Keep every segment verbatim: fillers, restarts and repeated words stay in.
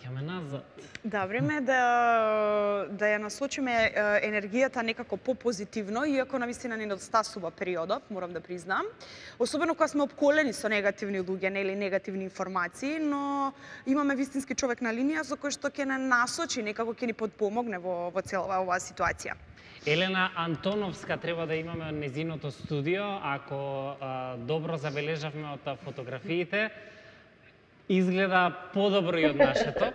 враќаме назад. Да, време е да, да ја насочиме енергијата некако попозитивно, иако навистина ни недостасува периодот, морам да признам. Особено кога сме опколени со негативни луѓе, нели негативни информации, но имаме вистински човек на линија со кој што ќе не насочи, некако ќе ни подпомогне во, во цела оваа ситуација. Елена Антоновска треба да имаме од незиното студио, ако а, добро забележавме од фотографиите. Изгледа подобро и од нашето,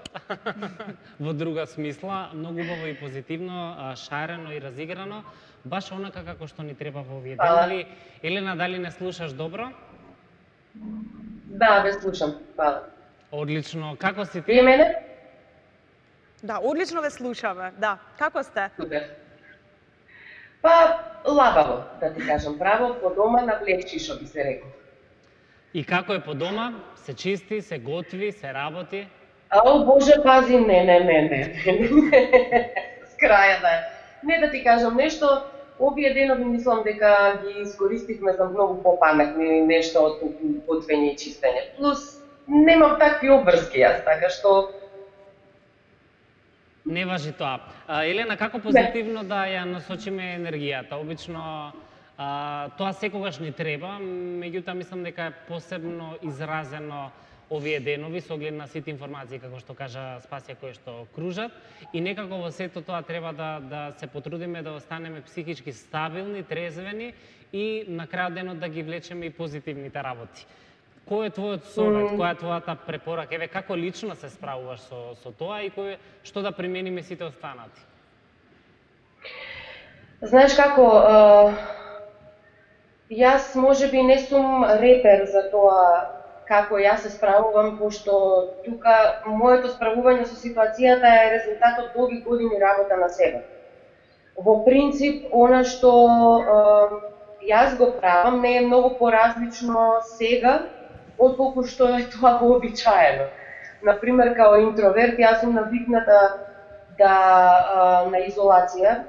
во друга смисла, многу убаво и позитивно, шарено и разиграно, баш онака како што ни треба во овие денови. Елена, дали не слушаш добро? Да, ве слушам, хвала. Одлично, како си ти? И мене? Да, одлично ве слушаме, да. Како сте? Супер. Па, лабаво, да ти кажам право, по дома на влечи, што би се рекол. И како е по дома? Се чисти, се готви, се работи? Ау, Боже, пази, не, не, не, не. С краја да е. Не да ти кажам нешто, овие денови мислам дека ги искористивме за многу попаметни нешто од готвење и чистење. Плюс, немам такви обврски јас, така што... Не важи тоа. А, Елена, како позитивно да ја насочиме енергијата? Обично, а, тоа секогаш ни треба, меѓутоа мислам дека е посебно изразено овие денови со оглед на сите информации, како што кажа Спасија, кои што кружат, и некако во сето тоа треба да, да се потрудиме да останеме психички стабилни, трезвени и на крајот денот да ги влечеме и позитивните работи. Кој е твојот совет, која е твојата препорака? Еве, како лично се справуваш со, со тоа и кој, што да примениме сите останати? Знаеш како, јас можеби не сум репер за тоа како јас се справувам, пошто тука моето справување со ситуацијата е резултат од долги години работа на себе. Во принцип, она што јас го правам не е многу поразлично сега, отколку што е тоа вообичаено. Например, као интроверт, јас сум навикната да на изолација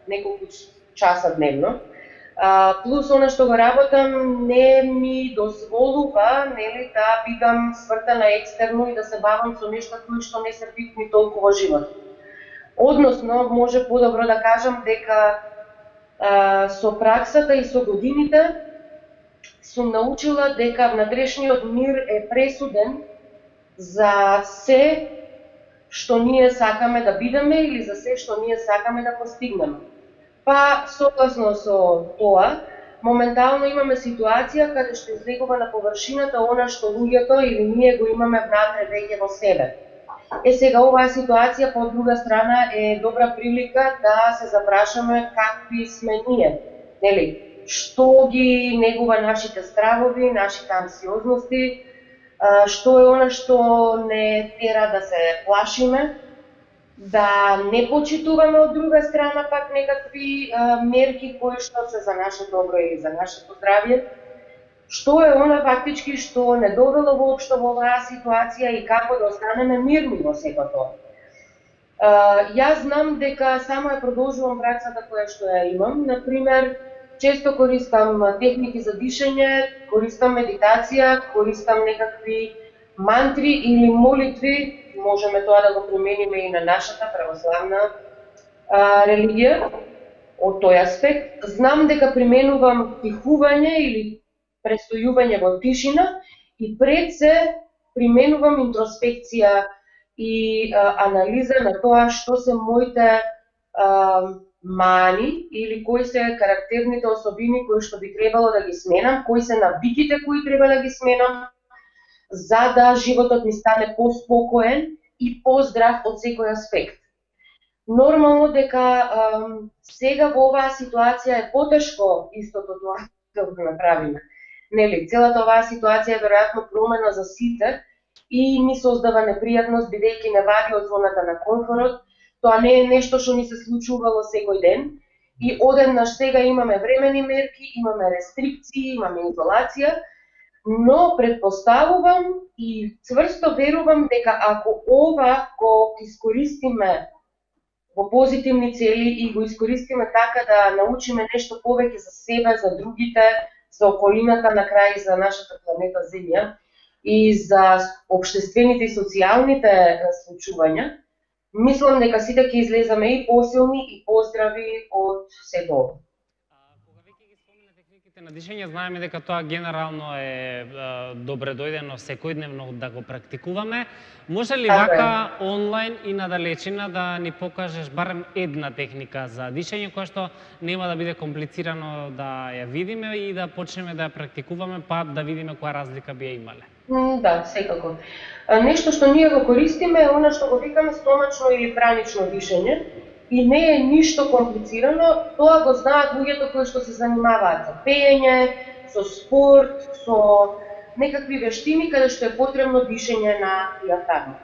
неколку часа дневно. Плюс она што го работам не ми дозволува, нели, да бидам свртана екстерно и да се бавам со нешта кои што не се битни толку во живот. Односно, може подобро да кажам дека а, со праксата и со годините сум научила дека внатрешниот мир е пресуден за се што ние сакаме да бидеме или за се што ние сакаме да постигнеме. Па, согласно со тоа, моментално имаме ситуација каде што излегува на површината она што луѓето или ние го имаме внатре веќе во себе. Е, сега оваа ситуација по друга страна е добра прилика да се запрашаме какви сме ние, нели? Што ги негува нашите стравови, нашите анксиозности, што е она што не тера да се плашиме, да не почитуваме од друга страна пак некакви а, мерки кои што се за наше добро или за нашето здравје, што е она фактички што не довело воопшто во оваа ситуација и како да останеме мирни во сето тоа. А, јас знам дека само ја продолжувам праксата која што ја имам, например, често користам техники за дишење, користам медитација, користам некакви мантри или молитви, можеме тоа да го примениме и на нашата православна а, религија, од тој аспект. Знам дека применувам тихување или престојување во тишина и пред се применувам интроспекција и а, анализа на тоа што се моите а, мани или кои се карактерните особини кои што би требало да ги сменам, кои се навиките кои треба да ги сменам, за да животот ми стане поспокоен и поздрав од секој аспект. Нормално дека ам, сега во оваа ситуација е потешко истото тоа да го направиме. Нели, целата оваа ситуација е веројатно промена за сите и ни создава непријатност бидејќи не вади од зоната на комфорот. Тоа не е нешто што ни се случувало секој ден и одеднаш сега имаме времени мерки, имаме рестрикции, имаме изолација, но предпоставувам и цврсто верувам дека ако ова го искористиме во позитивни цели и го искористиме така да научиме нешто повеќе за себе, за другите, за околината, на крај за нашата планета Земја, и за општествените и социјалните случувања, мислам дека сите ќе излеземе и посилни и поздрави од сето ова. Кога веќе ги спомена техниките на дишење, знаеме дека тоа генерално е добре дојдено секојдневно да го практикуваме. Може ли вака онлайн и на далечина да ни покажеш барем една техника за дишење која што нема да биде комплицирано да ја видиме и да почнеме да ја практикуваме, па да видиме која разлика би ја имале? Да, секако. Нешто што ние го користиме е она што го викаме стомачно или пранично дишење и не е ништо комплицирано, тоа го знаат луѓето кои што се занимаваат со пеење, со спорт, со некакви вештини каде што е потребно дишење на диафрагма.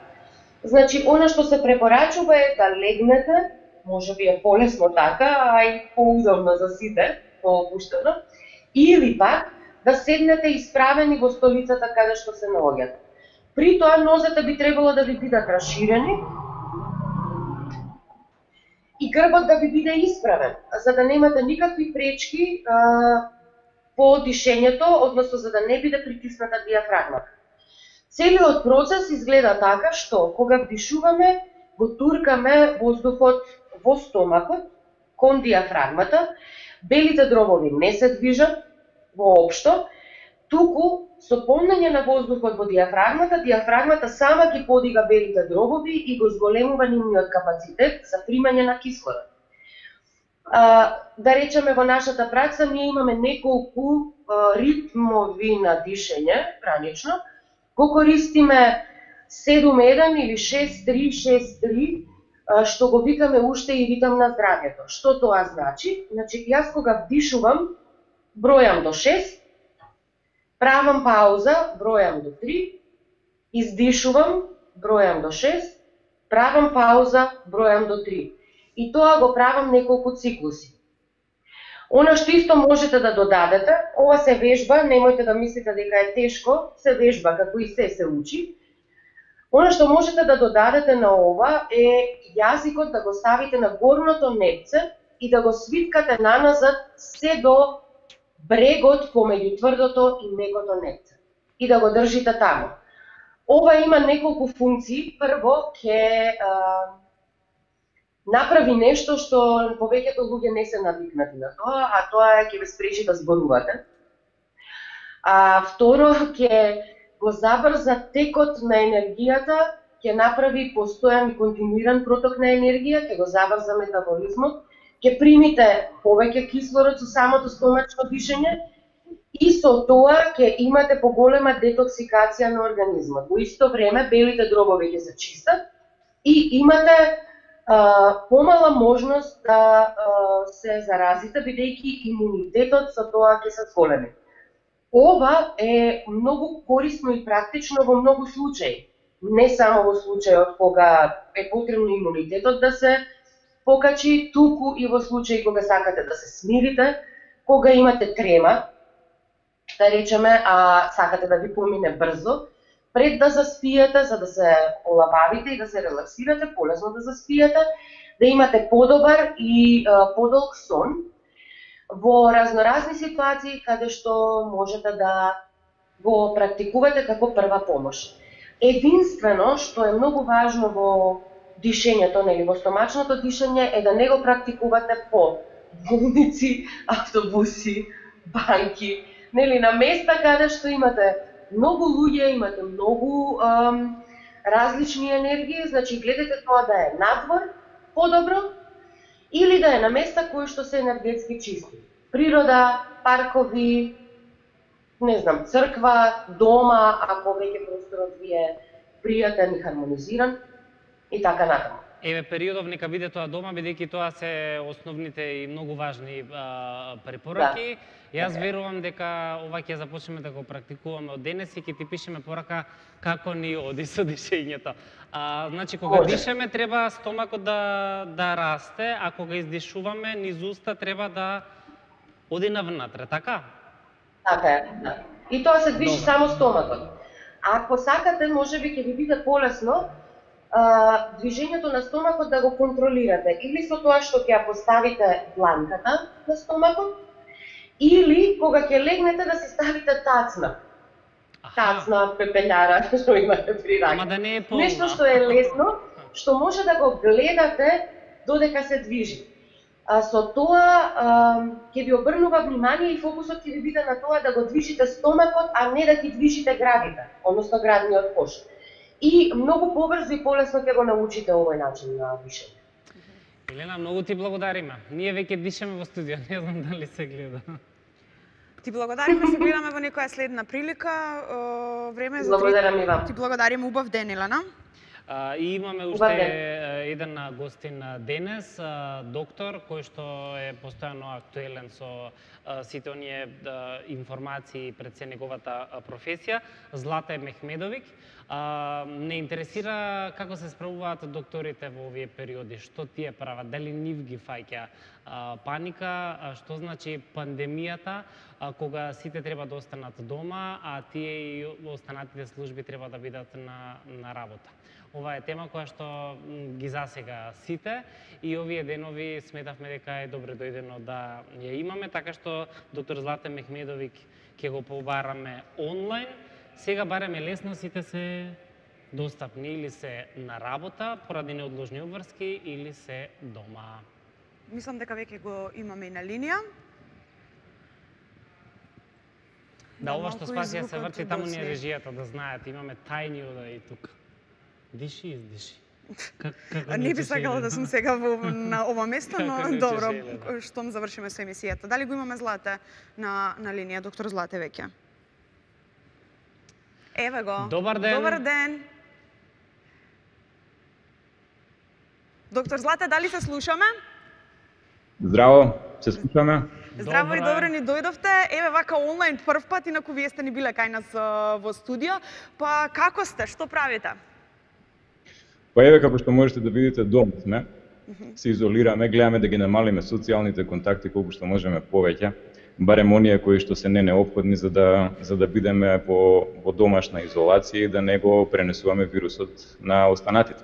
Значи, она што се препорачува е да легнете, може би е полесно така, а и поудобно за сите, поопуштено, или пак да седнете исправени во столицата каде што се наоѓате. При тоа нозете би требало да ви бидат расширени и грбот да ви биде исправен, за да немате никакви пречки а, по дишењето, односно за да не биде притисната диафрагмата. Целиот процес изгледа така што кога вдишуваме, го туркаме воздухот во стомакот кон диафрагмата, белите дробови не се движат воопшто, туку со полнење на воздухот во диафрагмата, диафрагмата сама ги подига белите дробови и го зголемува нивниот капацитет за примање на кислород. А, да речеме во нашата пракса ние имаме неколку а, ритмови на дишење, пранично, го користиме седум еден или шест три шест три, што го викаме уште и ритам на здравјето. Што тоа значи? Значи, јас кога вдишувам, бројам до шест, правам пауза, бројам до три, издишувам, бројам до шест, правам пауза, бројам до три. И тоа го правам неколку циклуси. Она што исто можете да додадете, ова се вежба, немојте да мислите дека е тешко, се вежба, како и се се учи. Она што можете да додадете на ова е јазикот да го ставите на горното непце и да го свиткате наназад се до брегот помеѓу тврдото и мекото непце. И да го држите таму. Ова има неколку функции. Прво, ќе направи нешто што повеќето луѓе не се навикнати на тоа, а тоа е ќе ве спречи да зборувате. А второ, ќе го забрза текот на енергијата, ќе направи постојан и континуиран проток на енергија, ќе го забрза метаболизмот, ќе примите повеќе кислород со самото стомачно дишење и со тоа ќе имате поголема детоксикација на организмот. Во исто време белите дробови ќе се чистат и имате а, помала можност да а, се заразите, бидејќи имунитетот со тоа ќе се зголеми. Ова е многу корисно и практично во многу случаи. Не само во случајот кога е потребно имунитетот да се покачи, туку и во случаи кога сакате да се смирите, кога имате трема, да речеме, а сакате да ви помине брзо, пред да заспиете, за да се олабавите и да се релаксирате, полесно да заспиете, да имате подобар и а, подолг сон, во разноразни ситуации каде што можете да го практикувате како прва помош. Единствено што е многу важно во дишењето, нели, во стомачното дишење е да не го практикувате по болници, автобуси, банки, нели, на места каде што имате многу луѓе, имате многу ам, различни енергии, значи гледате тоа да е надвор, подобро, или да е на места кои што се енергетски чисти. Природа, паркови, не знам, црква, дома, ако веќе просторот ви е пријатен и хармонизиран, и така натаму. Еве, периодов нека биде тоа дома, бидејќи тоа се основните и многу важни а, препораки. Да. Јас верувам дека ова ќе започнеме да го практикуваме од денес и ќе ти пишеме порака како ни оди со дишењето. А, значи, кога Може. дишеме, треба стомакот да, да расте, а кога издишуваме, низ уста треба да оди навнатре, така? Така е, да. И тоа се движи Добре. само стомакот. Ако сакате, може би ќе ви биде полесно а, движењето на стомакот да го контролирате. Или со тоа што ќе ја поставите дланката на стомакот, или кога ќе легнете да се ставите тацна. тацна, пепељара, што имате при рака. Ама да не е полна. Нешто што е лесно, што може да го гледате додека се движи. А, со тоа ќе ви обрнува внимание и фокусот ќе ви биде на тоа да го движите стомакот, а не да ги движите градите, односно градниот кош. И многу побрзо и полесно ќе го научите овој начин на дишење. Елена, многу ти благодариме. Ние веќе дишеме во студио, не знам дали се гледа. Ти благодариме, се гледаме во некоја следна прилика. Време е за Благодарам и вам. Ти благодариме, убав ден, Елена. Uh, и имаме уште uh, еден гостин денес, uh, доктор, кој што е постојано актуелен со uh, сите оние uh, информации пред се неговата uh, професија, Злате Мехмедовиќ. Uh, не интересира како се справуваат докторите во овие периоди, што тие прават, дали нив ги фаќа uh, паника, uh, што значи пандемијата, uh, кога сите треба да останат дома, а тие и останатите служби треба да бидат на, на работа. Ова е тема која што ги засега сите и овие денови сметавме дека е добре дојдено да ја имаме, така што доктор Злате Мехмедовиќ ќе го побараме онлайн. Сега барем е лесно, сите се достапни или се на работа поради неодложни обврски или се дома. Мислам дека веќе го имаме и на линија. Да, ова што Спасија се врти, таму ни е режијата да знаат, имаме тајни удари тука. Диши, издиши. Как, не би сакала да сум сега во, на ова место, но добро, штом завршиме со емисијата. Дали го имаме Злате на, на линија, доктор Злате веќе? Еве го. Добар ден. Добар ден. Доктор Злате, дали се слушаме? Здраво, се слушаме. Здраво и добро ни дојдовте. Еве вака онлайн прв пат, инаку вие сте ни биле кај нас во студио. Па како сте? Што правите? Па еве, како што можете да видите, дома сме, се изолираме, гледаме да ги намалиме социјалните контакти колку што можеме повеќе, барем оние кои што се не неопходни за да за да бидеме во во домашна изолација и да не го пренесуваме вирусот на останатите.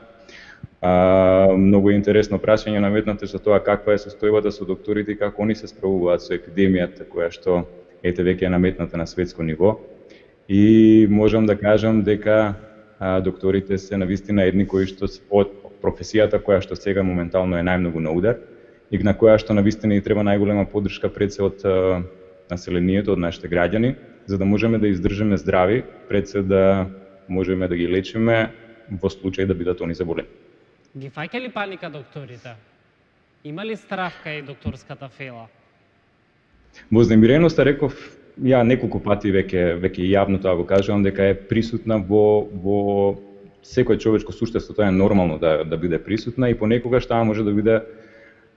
А, многу интересно прашање наметнате за тоа каква е состојбата со докторите и како они се справуваат со епидемијата која што ете веќе е наметната на светско ниво. И можам да кажам дека а, докторите се навистина едни кои што од професијата која што сега моментално е најмногу на удар и на која што навистина и треба најголема поддршка пред се од а, населението, од нашите граѓани, за да можеме да издржиме здрави, пред се да можеме да ги лечиме во случај да бидат они заболени. Ги фаќа ли паника докторите? Има ли страв кај докторската фела? Вознемиреноста, реков, ја неколку пати веќе веќе јавно тоа го кажувам дека е присутна во во секој човечко суштество, тоа е нормално да да биде присутна и понекогаш таа може да биде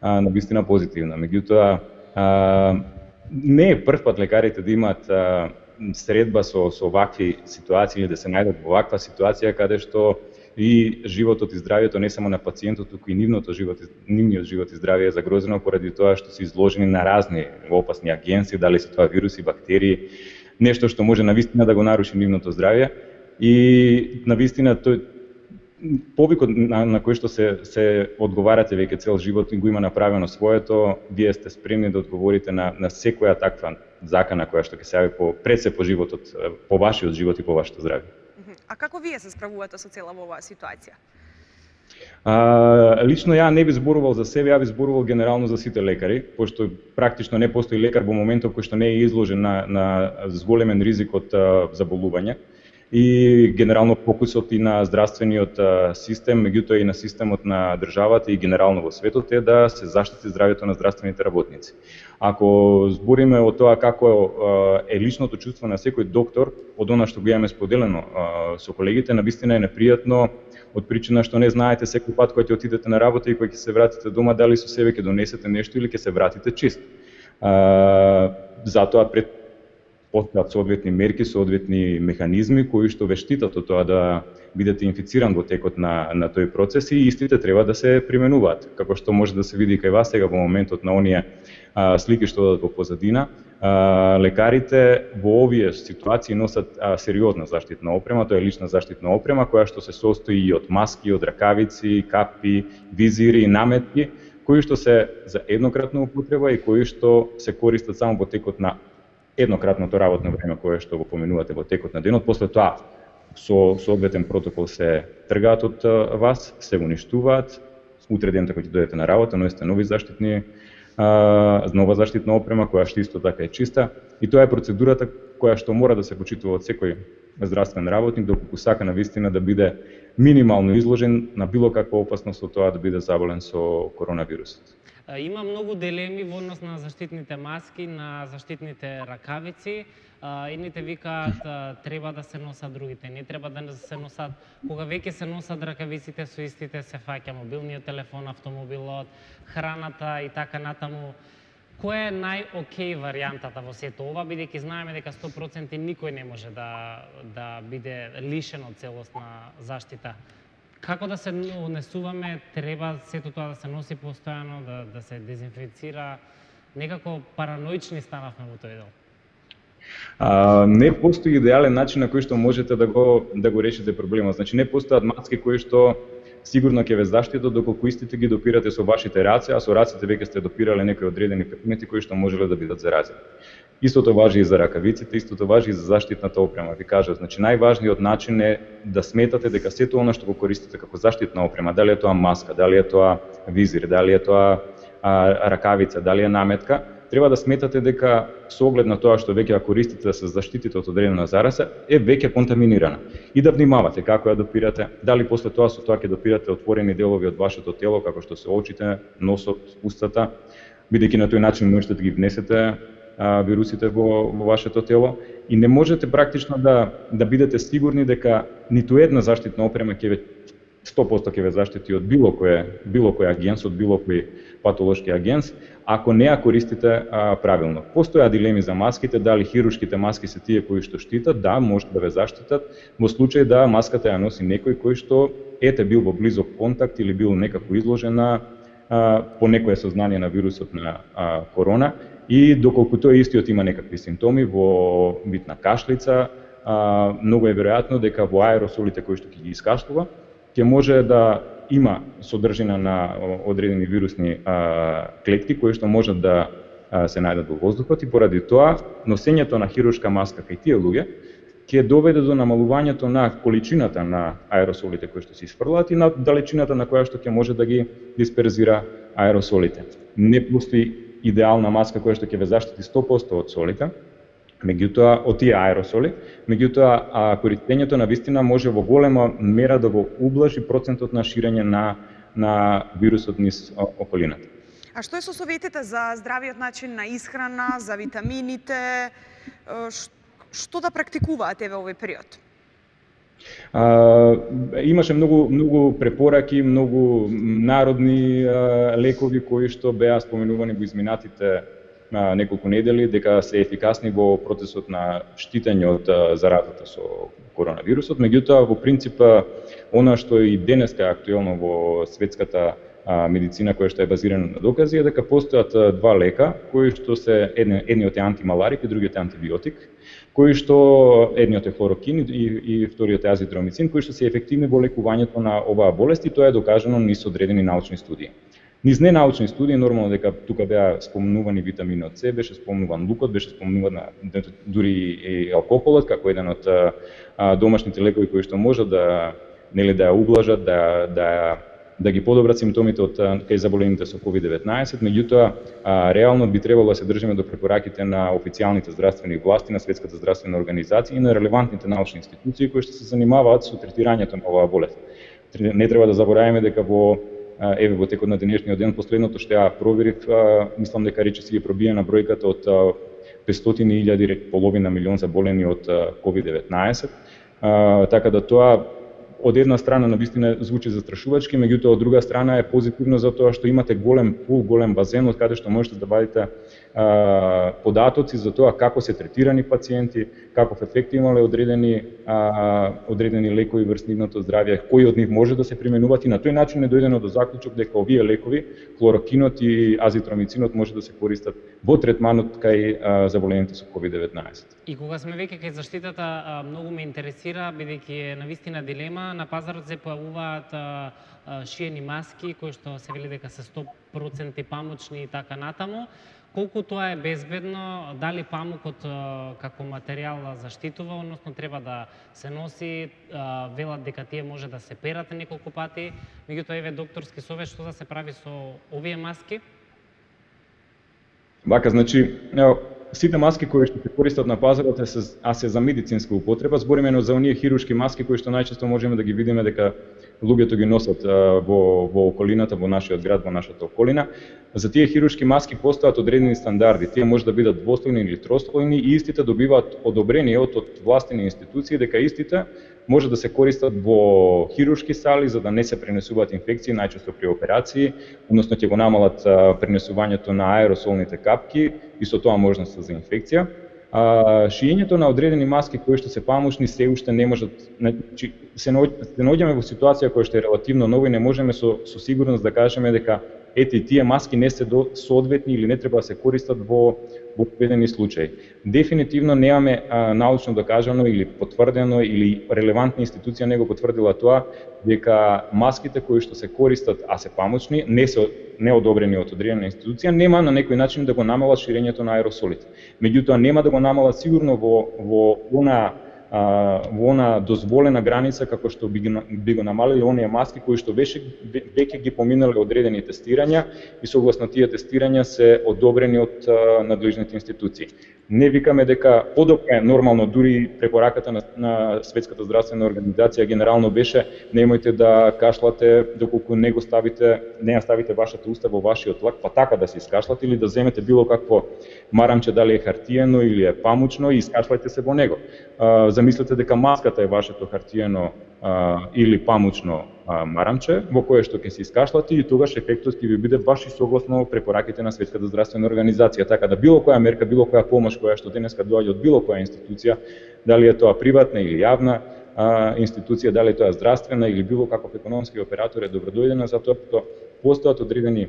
а, навистина позитивна. Меѓутоа, а, не е прв пат лекарите да имаат а, средба со со вакви ситуации или да се најдат во ваква ситуација каде што и животот и здравјето не само на пациентот, туку и нивното живот, нивниот живот и здравје е загрозено поради тоа што се изложени на разни опасни агенси, дали се тоа вируси, бактерии, нешто што може навистина да го наруши нивното здравје. И навистина тој повикот на, на кој што се се одговарате веќе цел живот и го има направено своето, вие сте спремни да одговорите на на секоја таква закана која што ќе се јави по пред се по животот, по вашиот живот и по вашето здравје. А како вие се справувате со цела оваа ситуација? А, лично ја не би зборувал за себе, ја би зборувал генерално за сите лекари, пошто практично не постои лекар во моментов кој што не е изложен на на зголемен ризик од заболување. И генерално фокусот и на здравствениот систем, меѓутоа и на системот на државата и генерално во светот е да се заштити здравјето на здравствените работници. Ако збориме о тоа како е личното чувство на секој доктор, од она што го имаме споделено со колегите, навистина е непријатно од причина што не знаете секој пат кога ќе отидете на работа и кога ќе се вратите дома дали со себе ќе донесете нешто или ќе се вратите чист. Затоа пред постојат соодветни мерки, соодветни механизми кои што ве штитат од тоа да бидете инфициран во текот на на тој процес и истите треба да се применуваат. Како што може да се види кај вас сега во моментот на оние а, слики што одат во позадина, а, лекарите во овие ситуации носат а, сериозна заштитна опрема, тоа е лична заштитна опрема која што се состои и од маски, од ракавици, капи, визири и наметки, кои што се за еднократна употреба и кои што се користат само во текот на еднократното работно време кое што го поменувате во текот на денот, после тоа со соодветен протокол се тргаат од вас, се уништуваат, утре дента кога ќе дојдете на работа, носите нови заштитни а, нова заштитна опрема која што исто така е чиста, и тоа е процедурата која што мора да се почитува од секој здравствен работник доколку сака навистина да биде минимално изложен на било каква опасност од тоа да биде заболен со коронавирусот. Има многу дилеми во однос на заштитните маски, на заштитните ракавици. Едните викаат треба да се носат, другите не треба да се носат. Кога веќе се носат ракавиците со истите се фаќа мобилниот телефон, автомобилот, храната и така натаму. Која е нај-окей варијантата во сето ова, бидејќи знаеме дека сто проценти никој не може да да биде лишен од целосна заштита? Како да се однесуваме, треба сето тоа да се носи постојано, да, да се дезинфицира, некако параноични станавме во тој дел. А, не постои идеален начин на кој што можете да го да го решите проблемот. Значи не постојат маски кои што сигурно ќе ве заштитат доколку истите ги допирате со вашите раце, а со рацете веќе сте допирале некои одредени предмети кои што можеле да бидат заразени. Истото важи и за ракавиците, истото важи и за заштитната опрема. Ви кажав, значи најважниот начин е да сметате дека сето она што го користите како заштитна опрема, дали е тоа маска, дали е тоа визир, дали е тоа а, ракавица, дали е наметка, треба да сметате дека со оглед на тоа што веќе ја користите да се заштитите од одредена зараза, е веќе контаминирана. И да внимавате како ја допирате, дали после тоа со тоа ќе допирате отворени делови од вашето тело, како што се очите, носот, устата, бидејќи на тој начин можете да ги внесете а, вирусите во, во вашето тело, и не можете практично да да бидете сигурни дека ниту една заштитна опрема ќе ве сто проценти ќе ве заштити од било кој било кој агенс, од било кој патолошки агенс, ако не ја користите а, правилно. Постоја дилеми за маските, дали хируршките маски се тие кои што штитат, да, може да ве заштитат, во случај да маската ја носи некој кој што ете бил во близок контакт или бил некако изложен на а, по некое сознание на вирусот на а, корона, и доколку тој истиот има некакви симптоми во вид на кашлица, а, многу е веројатно дека во аеросолите кои што ќе ги искашлува, ќе може да има содржина на одредени вирусни а, клетки кои што можат да а, се најдат во воздухот, и поради тоа носењето на хируршка маска кај тие луѓе ќе доведе до намалувањето на количината на аеросолите кои што се испрлаат и на далечината на која што ќе може да ги дисперзира аеросолите. Не постои идеална маска која што ќе ве заштити сто проценти од солите, меѓутоа од тие аеросоли, меѓутоа а, користењето на вистина може во голема мера да го ублажи процентот на ширење на на вирусот низ околината. А што е со советите за здравиот начин на исхрана, за витамините, што да практикуваат еве овој период? А, имаше многу многу препораки, многу народни а, лекови кои што беа споменувани во изминатите на неколку недели, дека се ефикасни во процесот на штитење од заразата со коронавирусот. Меѓутоа, во принцип, она што и денеска е актуелно во светската а, медицина, која што е базирана на докази, е дека постојат два лека кои што се едни, едниот е антималарик и другиот е антибиотик, кои што едниот е хлорокин и, и вториот е азитромицин, кои што се ефективни во лекувањето на оваа болест, и тоа е докажано низ одредени научни студии. Низ ненаучни студии, нормално дека тука беа спомнувани витаминот С, беше спомнуван лукот, беше спомнуван дури и алкохолот како еден од а, домашните лекови кои што можат да нели да ја ублажат, да да да ги подобрат симптомите од кај заболените со ковид деветнаесет, меѓутоа реално би требало да се држиме до препораките на официјалните здравствени власти, на Светската здравствена организација и на релевантните научни институции кои што се занимаваат со третирањето на оваа болест. Не треба да забораваме дека во еве во текот на денешниот ден последното што ја проверив, мислам дека речиси е пробиена бројката од петстотини илјади, половина милион заболени од ковид деветнаесет, така да тоа од една страна навистина звучи застрашувачки, меѓутоа од друга страна е позитивно затоа што имате голем пул, голем базен од каде што можете да вадите а, податоци за тоа како се третирани пациенти, каков ефект имале одредени а, одредени лекови врз нивното здравје, кои од нив може да се применуваат, и на тој начин е дојдено до заклучок дека овие лекови, хлорокинот и азитромицинот може да се користат во третманот кај а, заболените со ковид деветнаесет. И кога сме веќе кај заштитата, многу ме интересира, бидејќи е навистина дилема. На пазарот се појавуваат а, а, шиени маски кои што се вели дека се сто проценти памучни и така натаму. колку тоа е безбедно, дали памукот а, како материјал заштитува, односно треба да се носи, а, велат дека тие може да се перат неколку пати, меѓутоа еве докторски совет што да се прави со овие маски? Вака, значи, ево, сите маски кои што се користат на пазарот е се, а се за медицинска употреба, збориме но за оние хируршки маски кои што најчесто можеме да ги видиме дека луѓето ги носат а, во, во околината, во нашиот град, во нашата околина. За тие хируршки маски постојат одредени стандарди. Тие може да бидат двослојни или трослојни и истите добиваат одобрение од, од властени институции дека истите може да се користат во хируршки сали за да не се пренесуваат инфекции, најчесто при операции, односно ќе го намалат а, пренесувањето на аеросолните капки и со тоа можност за инфекција. А, шиењето на одредени маски кои што се памучни се уште не можат, значи се наоѓаме во ситуација која што е релативно нова и не можеме со, со сигурност да кажеме дека ете и тие маски не се до соодветни или не треба да се користат во во одредени случаи. Дефинитивно немаме а, научно докажано или потврдено или релевантна институција не го потврдила тоа дека маските кои што се користат а се памучни не се неодобрени од одредена институција нема на некој начин да го намалат ширењето на аеросолите. Меѓутоа нема да го намалат сигурно во во она во она дозволена граница како што би, би го намалиле оние маски кои што веќе веќе ги поминале одредени тестирања и согласно тие тестирања се одобрени од а, надлежните институции. Не викаме дека подобро е нормално, дури препораката на, на Светската здравствена организација генерално беше немојте да кашлате доколку не го ставите, не ја ставите вашата уста во вашиот лак, па така да се искашлате или да земете било какво марамче, дали е хартиено или е памучно и искашлајте се во него. А, замислете дека маската е вашето хартиено а, или памучно а, марамче во кое што ќе се искашлате и тогаш ефектот ќе ви биде баш и согласно препораките на Светската здравствена организација. Така да било која мерка, било која помош која што денеска доаѓа од било која институција, дали е тоа приватна или јавна а, институција, дали е тоа здравствена или било каков економски оператор е добродојдена, затоа што постојат одредени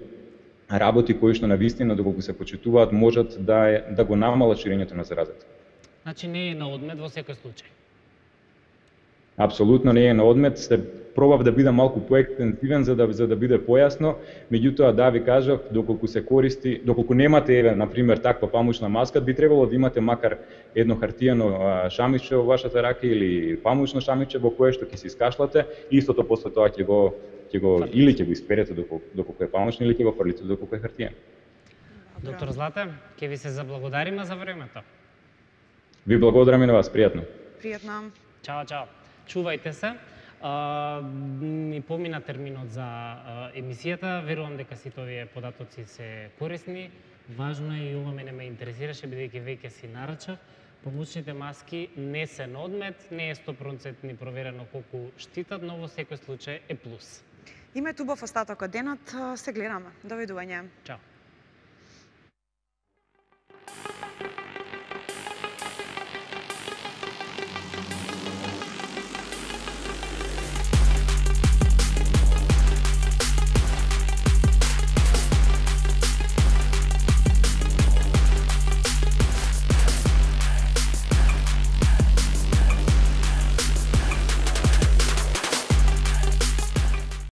работи кои што навистина доколку се почитуваат можат да е, да го намалат ширењето на заразата. Значи не е на одмет во секој случај. Апсолутно не е на одмет, се пробав да бидам малку поекстензивен за да за да биде појасно, меѓутоа да ви кажав, доколку се користи, доколку немате еве на пример таква памучна маска, би требало да имате макар едно хартиено шамиче во вашата рака или памучно шамиче во кое што ќе се искашлате, истото после тоа ќе го ќе го или ќе го исперете доколку доколку е памучно или ќе го фрлите доколку е хартиен. Доктор Злате, ќе ви се заблагодариме за времето. Ви благодарам и на вас, пријатно. Пријатно. Чао, чао. Чувајте се. А, ни помина терминот за а, емисијата, верувам дека сите овие податоци се корисни. Важно е и ова мене ме интересираше, бидејќи веќе си нарачав. Памучните маски не се на одмет, не е сто проценти проверено колку штитат, но во секој случај е плюс. Имајте убав остаток од денот, се гледаме. Довидување. Чао.